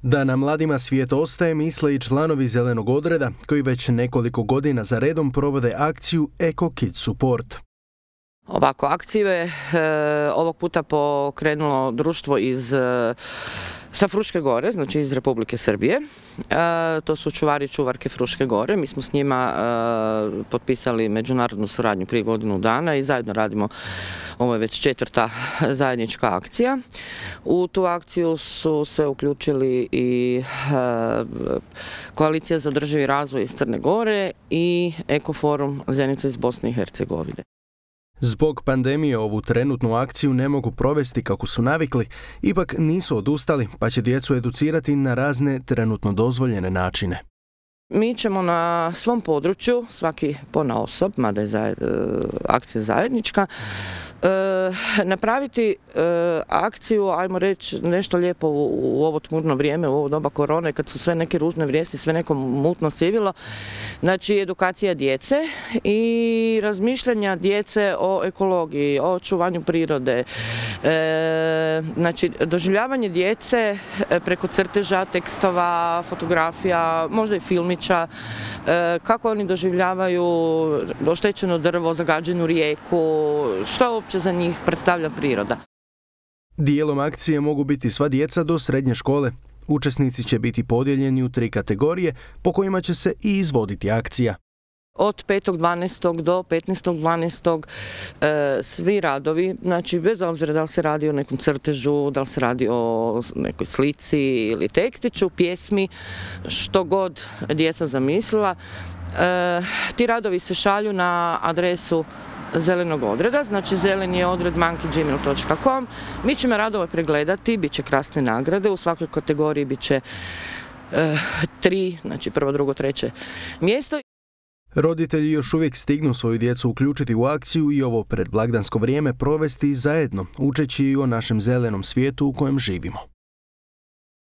Da nam mladima svijet ostaje, misle i članovi Zelenog odreda, koji već nekoliko godina za redom provode akciju Eco Kids Support. Ovako, akciju je ovog puta pokrenulo društvo sa Fruške gore, znači iz Republike Srbije. To su čuvari i čuvarke Fruške gore. Mi smo s njima potpisali međunarodnu suradnju prije godinu dana i zajedno radimo, ovo je već 4. zajednička akcija. U tu akciju su se uključili i Koalicija za održivi razvoj iz Crne Gore i Ekoforum Zenica iz Bosne i Hercegovine. Zbog pandemije ovu trenutnu akciju ne mogu provesti kako su navikli, ipak nisu odustali pa će djecu educirati na razne trenutno dozvoljene načine. Mi ćemo na svom području, svaki ponaosob, mada je akcija zajednička, napraviti akciju, ajmo reći nešto lijepo u ovo tmurno vrijeme, u ovo doba korone, kad su sve neke ružne vijesti, sve neko mutno sivilo. Znači, edukacija djece i razmišljanja djece o ekologiji, o očuvanju prirode. Znači, doživljavanje djece preko crteža, tekstova, fotografija, možda i filmića, kako oni doživljavaju oštećeno drvo, zagađenu rijeku, što uopće za njih predstavlja priroda. Dijelom akcije mogu biti sva djeca do srednje škole. Učesnici će biti podijeljeni u 3 kategorije po kojima će se i izvoditi akcija. Od 5.12. do 15.12. Svi radovi, znači bez obzira da li se radi o nekom crtežu, da li se radi o nekoj slici ili tekstiću, pjesmi, što god djeca zamislila, ti radovi se šalju na adresu Zelenog odreda, znači zeleniodred@gmail.com. Mi ćemo radove pregledati, bit će krasne nagrade, u svakoj kategoriji bit će 3, znači 1., 2., 3. mjesto. Roditelji još uvijek stignu svoju djecu uključiti u akciju i ovo predblagdansko vrijeme provesti zajedno, učeći o našem zelenom svijetu u kojem živimo.